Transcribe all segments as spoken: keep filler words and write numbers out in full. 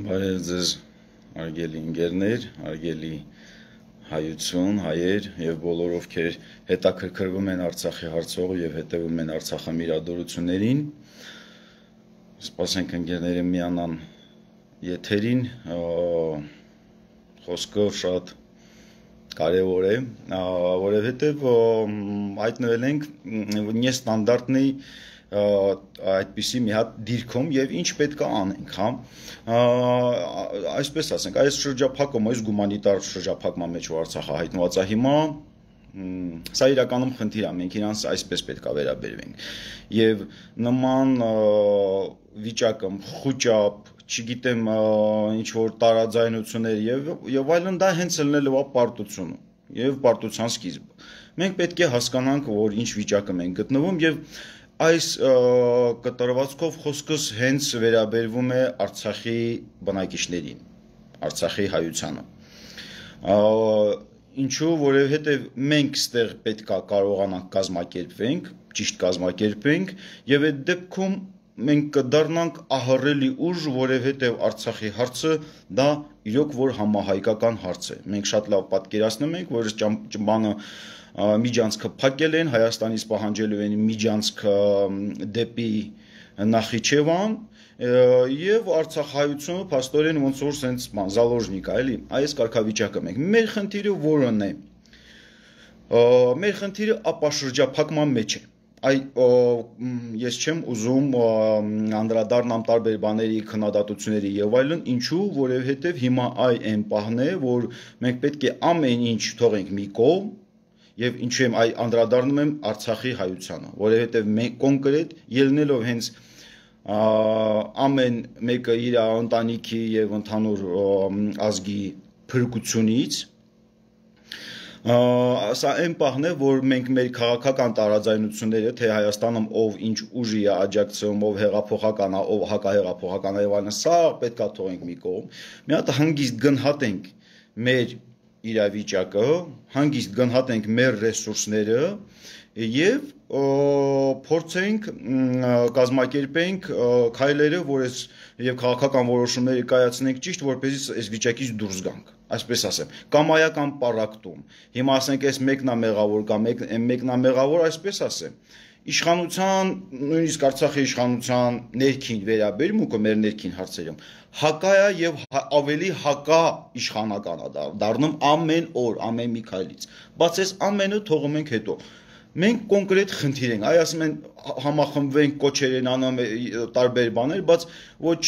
Բարև ձեզ արգելի ընկերներ, արգելի հայություն, հայեր եւ բոլոր ովքեր հետաքրքրվում են Արցախի հարցով եւ հետեւում են Արցախի իրադարձություններին։ Սպասենք ընկերները միանան եթերին, խոսքը շատ կարևոր է, որովհետեւ հայտնվել ենք նեստանդարտնի այդպիսի մի հատ դիրքում եւ ինչ պետք է անենք, հա այսպես ասենք, այս շրջափակումը, այս գումանիտար շրջափակման մեջ որ Արցախը հայտնված է հիմա, սա իրականում խնդիր է, մենք իրանց այսպես պետք է վերաբերվենք եւ նման վիճակը խոճապ, չգիտեմ, ինչ որ տարաձայնություններ եւ եւ այլն դա հենց ելնելու է պարտությունը եւ պարտության սկիզբը։ Մենք պետք է հասկանանք, որ ինչ վիճակը մենք գտնվում եւ այս կտրվածքով խոսքս հենց վերաբերվում է Արցախի բնակիչներին, Արցախի հայությանը։ Ինչու, որովհետև մենք ստեղ պետք է կարողանանք կազմակերպվենք, ճիշտ կազմակերպենք եւ այդ դեպքում մենք կդառնանք ահռելի ուժ, որովհետև Արցախի հարցը դա իրոք որ համահայկական հարց է։ Մենք շատ լավ պատկերացնում ենք, որ բանը միջանցքը փակել են, Հայաստանից պահանջելու են միջանցքը դեպի Նախիջևան եւ Արցախայությունը փաստորեն ոնց որ սենց զալոժնիկ է, էլի, այս կարգավիճակը մենք։ Մեր խնդիրը որն է։ Մեր խնդիրը ապաշրջափակման մեջ է։ Այ ես չեմ ուզում անդրադառնամ տարբեր բաների, քննադատությունների եւ այլն, ինչու, որովհետեւ հիմա այ այն պահն է, որ մենք պետք է ամեն ինչ թողենք մի կողմ եւ ինչու եմ այ անդրադառնում եմ Արցախի հայությանը, որովհետեւ մենք կոնկրետ ելնելով հենց ամեն մեկը իր ընտանիքի եւ ընդհանուր ազգի փրկությունից, սա այն պահն է, որ մենք մեր քաղաքական տարաձայնությունները, թե Հայաստանում ով ինչ ուժի է աջակցում, ով հեղափոխական է, ով հակահեղափոխական է եւ այլն, սա պետք է թողենք մի կողմ, մի հատ հանգիստ գնահատենք մեր իրավիճակը, հանգիստ գնահատենք մեր ռեսուրսները եւ փորձենք կազմակերպենք քայլերը, որ այս եւ քաղաքական որոշումներ կայացնենք ճիշտ, որպեսզի այս վիճակից դուրս գանք, այսպես ասեմ, կամայական պարակտում։ Հիմա ասենք այս մեկն է մեղավոր կամ մեկն է մեղավոր, այսպես ասեմ։ Իշխանության, նույնիսկ Արցախի իշխանության ներքին վերաբերմունքը մեր ներքին հարցերում հակա է եւ ավելի հակա իշխանական է դառնում ամեն օր, ամեն մի քայլից։ Բայց այս ամենը թողում ենք հետո։ Մենք կոնկրետ խնդիր ենք, այ ասում են համախմբվենք, կոչեր են անում տարբեր բաներ, բայց ոչ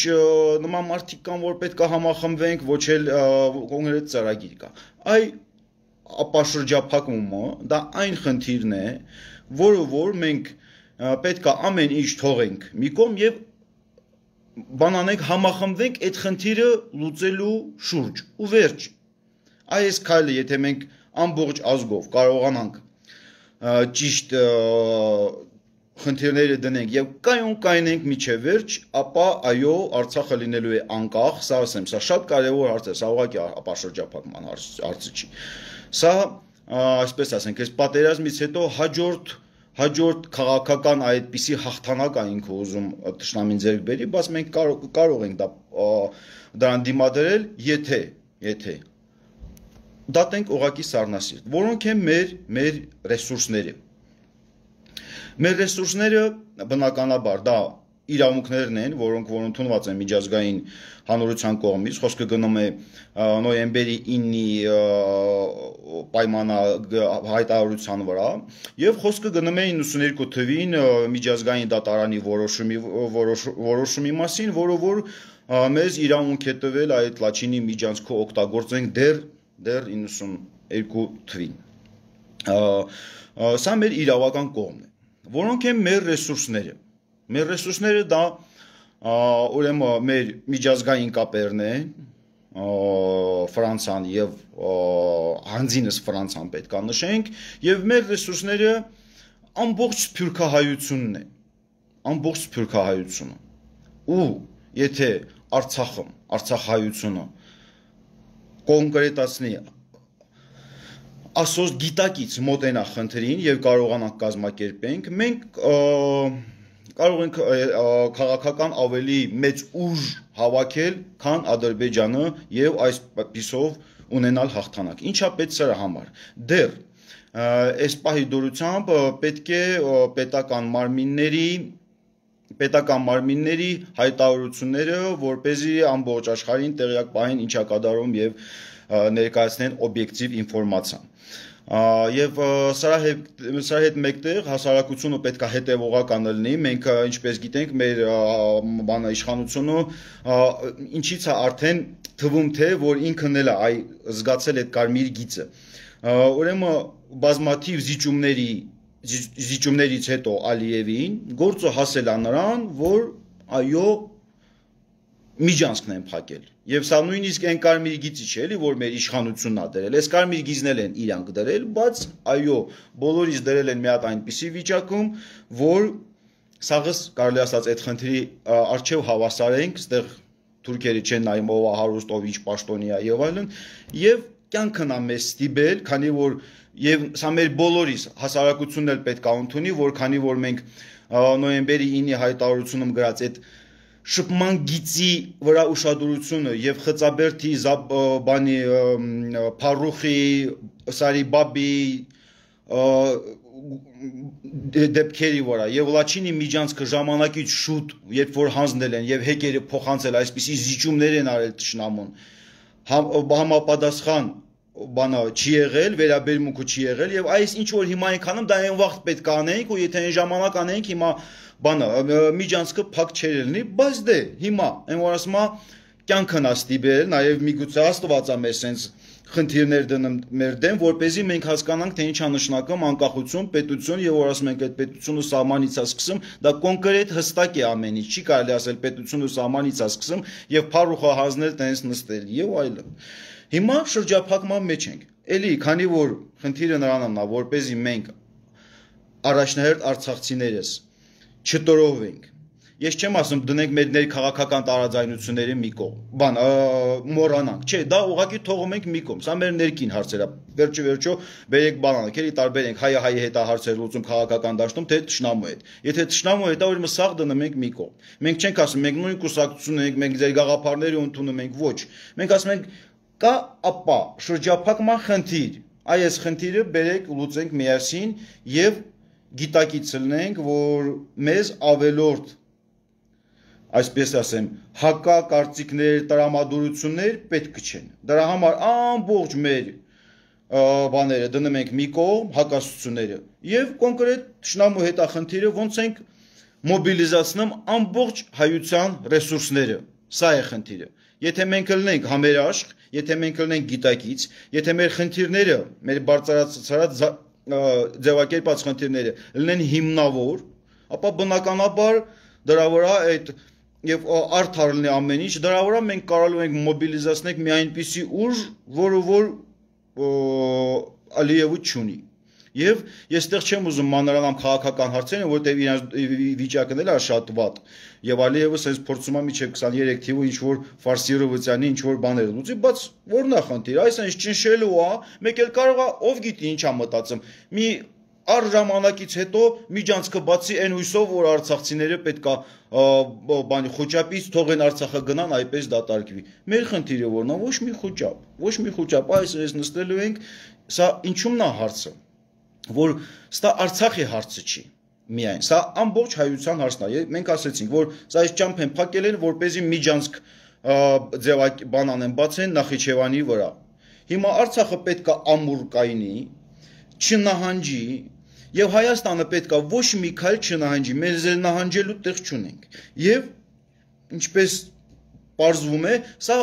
նման մարդիկ կան, որ պետք է համախմբվենք, ոչ էլ կոնկրետ ծրագիր կա։ Այ ապաշրջափակումը դա այն խնդիրն է, որը որ մենք պետք է ամեն ինչ թողենք մի կողմ եւ բանանենք համախմբվենք այդ խնդիրը լուծելու շուրջ ու վերջ։ Այս քայլը եթե մենք ամբողջ ազգով կարողանանք ճիշտ խնդիրները դնենք եւ կայուն կայնենք միջև վերջ, ապա այո, Արցախը լինելու է անկախ, սա ասեմ, սա շատ կարեւոր հարց է, սա ուղղակի ապաշրջափակման հարցը չի։ Սա այսպես ասենք, այս պատերազմից հետո հաջորդ հաջորդ քաղաքական այդպիսի հաղթանակ է ինքը ուզում թշնամին ձեռք բերի, բայց մենք կարող ենք դա դրան դիմադրել, եթե եթե դատենք ուղղակի սառնասիրտ, որոնք են մեր մեր ռեսուրսները։ Մեր ռեսուրսները բնականաբար դա իրավունքներն են, որոնք որ ընդունված են միջազգային հանրության կողմից, խոսքը գնում է նոյեմբերի ինի պայմանը հայտարարության վրա, եւ խոսքը գնում է իննսունհինգ թվին միջազգային դատարանի որոշումի որոշումի մասին, որը որ մեզ իրավունք է տվել այդ Լաչինի միջանցքը օգտագործենք դեռ դեռ իննսունհինգ թվին։ Սա մեր իրավական կողմն է, որոնք են մեր ռեսուրսները։ Մեր ռեսուրսները դա ուրեմն մեր միջազգային կապերն են, Ֆրանսիան եւ հանձինս Ֆրանսիան պետք է նշենք, եւ մեր ռեսուրսները ամբողջ սփյուռքահայությունն է, ամբողջ սփյուռքահայությունը։ Ու եթե Արցախը, Արցախահայությունը կոնկրետացնի ասոց գիտակից մոտենա խնդրին եւ կարողանանք կազմակերպենք, մենք կարող ենք քաղաքական ավելի մեծ ուժ հավաքել, քան Ադրբեջանը եւ այս պիսով ունենալ հաղթանակ։ Ինչա պետք սրա համար։ Դեռ այս պահի դուրությամբ պետք է պետական մարմինների պետական մարմինների հայտարարությունները, որպեսզի ամբողջ աշխարհին տեղյակ պահեն ինչա կատարում եւ ներկայացնեն օբյեկտիվ ինֆորմացիա։ Եվ սրա հետ սրա հետ մեկտեղ հասարակությունը պետք է հետևողական լինի, մենք ինչպես գիտենք մեր բանը իշխանությունը ինչից է արդեն թվում թե որ ինքն էլ է այ զգացել այդ կարմիր գիծը։ Ուրեմն բազմաթիվ զիջումների զիջումներից հետո Ալիևին գործը հասել է նրան, որ այո միջանցքն են փակել։ Եվ սա նույնիսկ այն կարմիր գիծի չէ, էլի որ մեր իշխանությունն է դրել։ Այս կարմիր գիծն են իրանք դրել, բայց այո, բոլորից դրել են մի հատ այնպիսի վիճակում, որ սաղս կարելի ասած այդ խնդրի արժեվ հավասար ենք, այստեղ թուրքերը չեն նայում ով է հարուստ, ով ինչ պաշտոնի է եւ այլն, եւ կյանքն է մեզ ստիպել, քանի որ եւ սա մեր բոլորիս հասարակությունն էլ պետք է ընդունի, որ քանի որ մենք նոյեմբերի ինի հայտարարությունում գրած այդ շփման գիծի վրա ուշադրությունը եւ Խծաբերդի բանի Փարուխի Սարիբաբի դեպքերի վրա եւ Լաչինի միջանցքը ժամանակից շուտ երբ որ հանձնել են եւ հեկերը փոխանցել այսպիսի զիջումներ են արել ճշնամուն համապատասխան բանը չի եղել, վերաբերմունքը չի եղել եւ այս ինչ որ հիմա ենք անում դա այն վաղ պետք է անենք ու եթե այն ժամանակ անենք հիմա բանը միջանցքը փակ չէր լինի, բայց դե հիմա այն որ ասում է կյանքն է ստիպել, նաեւ միգուցե Աստված է մեր sense խնդիրներ դնում մեր դեմ, որպեսզի մենք հասկանանք թե ինչ է նշանակում անկախություն, պետություն եւ որ ասում ենք այդ պետությունը սահմանից է սկսում, դա կոնկրետ հստակ է ամեն ինչ, չի կարելի ասել պետությունը սահմանից է սկսում եւ Փարուխը հանձնել տենց նստել եւ այլն։ Հիմա շրջափակման մեջ ենք։ Էլի, քանի որ խնդիրը նրանն է, որպեսզի մենք առաջնահերթ արցախցիներս չտորովենք։ Ես չեմ ասում դնենք մեր ներքաղաքական տարաձայնությունների մի կողմ, բան, մոռանանք, չէ, դա ուղղակի թողում ենք մի կողմ, սա մեր ներքին հարցեր է, վերջը վերջո բերեք բանանք, էլի տարբերենք հայը հայի հետ է հարցեր լուծում քաղաքական դաշտում, թե թշնամու հետ։ Եթե թշնամու հետ է, ուրեմն սաղ դնում ենք մի կողմ։ Մենք չենք ասում, մենք նույն կուսակցություն ենք, մենք ձեր գաղափարները ընդունում ենք, ոչ։ Մենք ասում ենք կա ապա շրջափակման խնդիր, այս խնդիրը բերեք լուծենք միասին եւ գիտակից լինենք, որ մեզ ավելորդ այսպես ասեմ, հակակարծիքներ, տրամադրություններ պետք չեն։ Դրա համար ամբողջ մեր բաները դնում ենք մի կողմ, հակասությունները եւ կոնկրետ թշնամու հետախնդիրը ոնց ենք մոբիլիզացնում ամբողջ հայության ռեսուրսները։ Սա է խնդիրը։ Եթե մենք լինենք համերաշխ, եթե մենք լինենք գիտակից, եթե մեր խնդիրները, մեր բարձրացած ձևակերպած խնդիրները լինեն հիմնավոր, ապա բնականաբար դրա վրա այդ եւ արդար լինի ամեն ինչ, դրա վրա մենք կարող ենք մոբիլիզացնել մի այնպիսի ուժ, որը որ Ալիևը չունի։ Եվ ես այդտեղ չեմ ուզում մանրանամ քաղաքական հարցերին, որտեղ իրենց վիճակն էլ է շատ վատ։ Եվ Ալիևը sense փորձում է միջև քսաներեք թիվը ինչ որ ֆարսիրովցյանի ինչ որ բաներ լուծի, բայց որն է խնդիրը, այս այնց ճնշելու է, մեկ էլ կարող է ով գիտի ինչ է մտածում։ Մի առ ժամանակից հետո միջանցքը բացի այն հույսով, որ արցախցիները պետքա բանի խոճապից թողեն Արցախը գնան, այպես դատարկվի։ Մեր խնդիրը որն է, ոչ մի խոճապ, ոչ մի խոճապ, այս ես նստելու ենք, սա ինչումն է հարցը, որ սա Արցախի հարցը չի միայն, սա ամբողջ հայության հարցն է։ Մենք ասեցինք, որ սա այս ճամփ են փակել են, որպեսզի միջանցք ձևակ բանան են բացեն Նախիջևանի վրա։ Հիմա Արցախը պետքա ամուր կայնի, չնահանջի, եւ Հայաստանը պետքա ոչ մի քայլ չնահանջի, մեր ձեր նահանջելու տեղ չունենք։ Եվ ինչպես պարզվում է, սա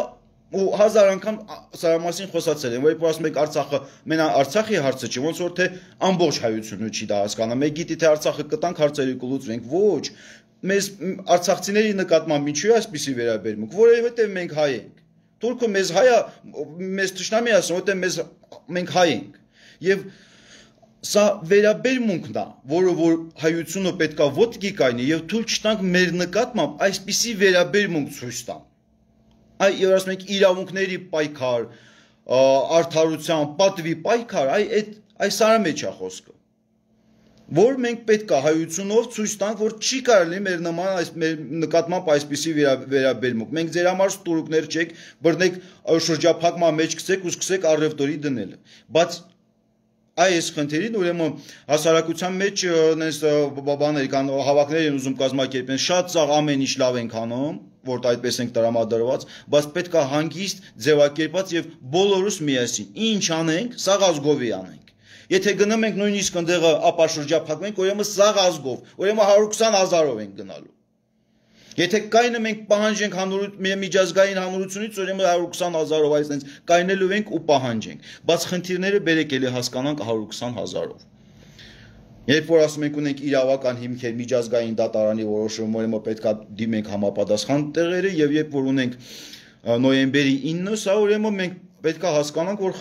ու հազար անգամ սրա մասին խոսացել են, որ ասում եք Արցախը մենա Արցախի հարցը չի, ոնց որ թե ամբողջ հայությունը չի դա հասկանում։ Մեկ գիտի թե Արցախը կտանք հարցերը կլուծվենք, ոչ։ Մեզ արցախցիների նկատմամբ ինչու է այսպիսի վերաբերմունք, որովհետեւ մենք հայ ենք։ Թուրքը մեզ հայա, մեզ թշնամի ասում, որտեղ մեզ մենք հայ ենք։ Եվ սա վերաբերմունքն է, որը որ հայությունը պետքա ոտքի կայնի եւ թույլ չտանք մեր նկատմամբ այսպիսի վերաբերմունք ցույց տան։ Այ եւ ասում ենք իրավունքների պայքար, արդարության, պատվի պայքար, այ այդ այս սարը մեջ է խոսքը։ որ մենք պետք է հայությունով ցույց տանք, որ չի կարելի մեր նման այս մեր նկատմամբ այսպիսի վերաբերմունք։ Մենք ձեր համար ստորուկներ չեք, բռնեք շրջափակման մեջ գցեք ու սկսեք առևտուրի դնել։ Բայց այս խնդիրին ուրեմն հասարակության մեջ այնպես բաներ կան, հավաքներ են ուզում կազմակերպեն, շատ ծաղ ամեն ինչ լավ ենք անում, որ այդպես ենք տրամադրված, բայց պետք է հանգիստ ձևակերպած եւ բոլորս միասին ինչ անենք, սաղ ազգովի անենք։ Եթե գնում ենք նույնիսկ ընդեղը ապաշրջափակվենք, ուրեմն սաղ ազգով, ուրեմն հարյուր քսան հազարով ենք գնալու։ Եթե կայնը մենք պահանջենք միջազգային հանրությունից, ուրեմն հարյուր քսան հազարով այսպես կայնելու ենք ու պահանջենք, բայց խնդիրները բերեք էլի հասկանանք հարյուր քսան հազարով։ Երբ որ ասում ենք ունենք իրավական հիմքեր միջազգային դատարանի որոշումը, ուրեմն պետք է դիմենք համապատասխան տեղերը եւ երբ որ ունենք նոյեմբերի ինը, սա ուրեմն մենք պետք է հասկանանք, որ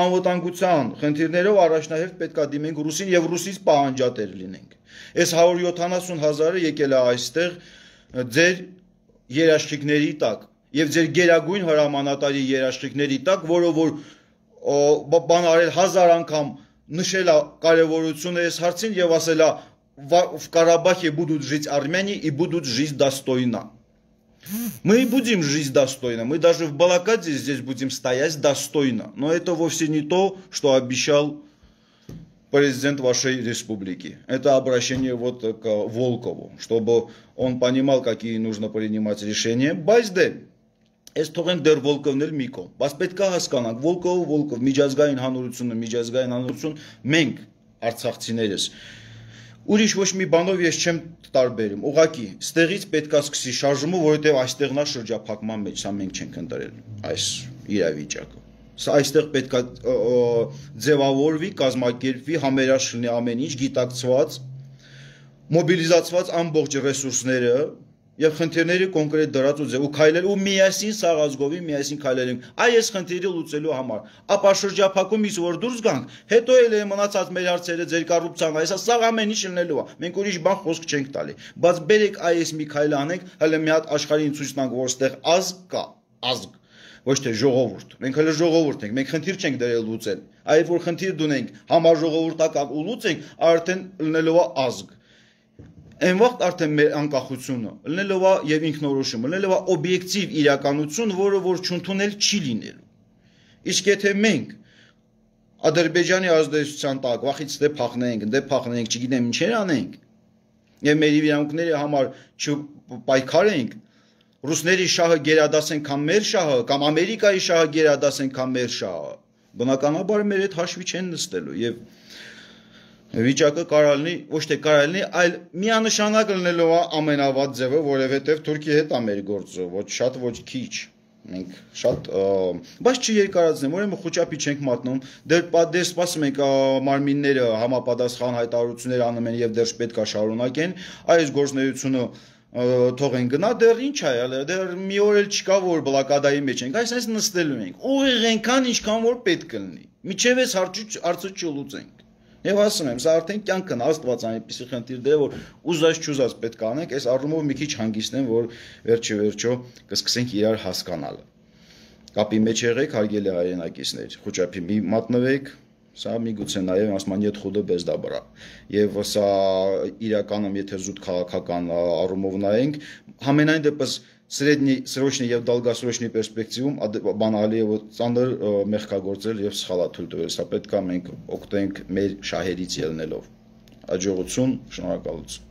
անվտանգության խնդիրներով առաջնահերթ պետք է դիմենք Ռուսին եւ Ռուսից պահանջատեր լինենք։ Այս հարյուր յոթանասուն հազարը եկել է այստեղ ձեր երաշխիքների տակ եւ ձեր գերագույն հրամանատարի երաշխիքների տակ, որը որ բան արել հազար անգամ նշել է կարևորությունը այս հարցին եւ ասել է в Карабахе будут жить армяне и будут жить достойно. Мы и будем жить достойно, мы даже в Балакаде здесь будем стоять достойно, но это вовсе не то, что обещал президент вашей республики. Это обращение вот к Волкову, чтобы он понимал, какие нужно принимать решения. Բայց Այս թողենք դեռ Վոլկովն էլ մի կողմ, բայց պետք է հասկանանք, Վոլկովը Վոլկով, միջազգային հանրությունը, միջազգային հանրություն, մենք արցախցիներս ուրիշ ոչ մի բանով ես չեմ տարբերում, ուղղակի ստեղից պետք է սկսի շարժումը, որովհետև այստեղ նա շրջափակման մեջ, սա մենք չենք ընտրել այս իրավիճակը։ Սա այստեղ պետք է ձևավորվի, կազմակերպվի, համերաշխ լինի ամեն ինչ, գիտակցված, մոբիլիզացված ամբողջ ռեսուրսները եւ խնդիրների կոնկրետ դրած ու ձև ու քայլել ու միասին սաղ ազգովի միասին քայլել ենք այս խնդիրը լուծելու համար ապա շրջափակումից որ դուրս գանք հետո էլ է մնացած մեր հարցերը ձեր կոռուպցիան այսա սաղ ամեն ինչ լինելու է մենք ուրիշ բան խոսք չենք տալի բայց բերեք այս մի քայլ անենք հələ մի հատ աշխարհին ցույց տանք որ ստեղ ազգ կա ազգ ոչ թե ժողովուրդ մենք հələ ժողովուրդ ենք մենք խնդիր չենք դրել լուծել այլ որ խնդիր դունենք համաժողովուրդական ու լուծենք արդեն լինելու է ազգ Այն վաղ արդեն մեր անկախությունը լինելով է եւ ինքնորոշումը լինելով է օբյեկտիվ իրականություն, որը որ չընդունել չի լինելու։ Իսկ եթե մենք Ադրբեջանի ազդեցության տակ վախից դե փախնենք, դե փախնենք, չգիտեմ ինչեր անենք, եւ մեր իրավունքների համար չպայքարենք, ռուսների շահը գերադասենք կամ մեր շահը, կամ Ամերիկայի շահը գերադասենք կամ մեր շահը, բնականաբար մեր այդ հաշվի չեն նստելու եւ Վիճակը կարող լինի, ոչ թե կարող լինի, այլ միանշանակ լինելով է ամենավատ ձևը, որովհետև Թուրքիայի հետ է մեր գործը, ոչ շատ, ոչ քիչ։ Մենք շատ, բայց չերկարացնեմ, ուրեմն խոճապի չենք մատնում, դեռ դեռ սպասում ենք մարմինները համապատասխան հայտարարություններ անում են եւ դեռ պետք է շարունակեն, այս գործունեությունը թողեն գնա, դեռ ինչ է, դեռ մի օր էլ չկա, որ բլոկադայի մեջ ենք, այսպես նստելու ենք, ուղիղ այնքան, ինչքան որ պետք կլինի, միջև այս հարցը չլուծենք։ Եվ ասում եմ, սա արդեն կյանքն Աստված այնպիսի խնդիր դե որ ուզած չուզած պետք է անենք, այս առումով մի քիչ հանգիստեմ, որ վերջի վերջո կսկսենք իրար հասկանալ։ Կապի մեջ եղեք, հարգելի հայրենակիցներ, խոճապի մի մատնվեք, սա միգուցե նաև ասմանիետ խուդը без добра։ Եվ սա իրականում եթե զուտ քաղաքական առումով նայենք, համենայն դեպս Средний, срочный եւ долгосрочный перспективում բանալի եւ ծանր մեղքագործել եւ սխալաթույլ տվել, սա պետք է մենք օգտենք մեր շահերից ելնելով։ Աջողություն, շնորհակալություն։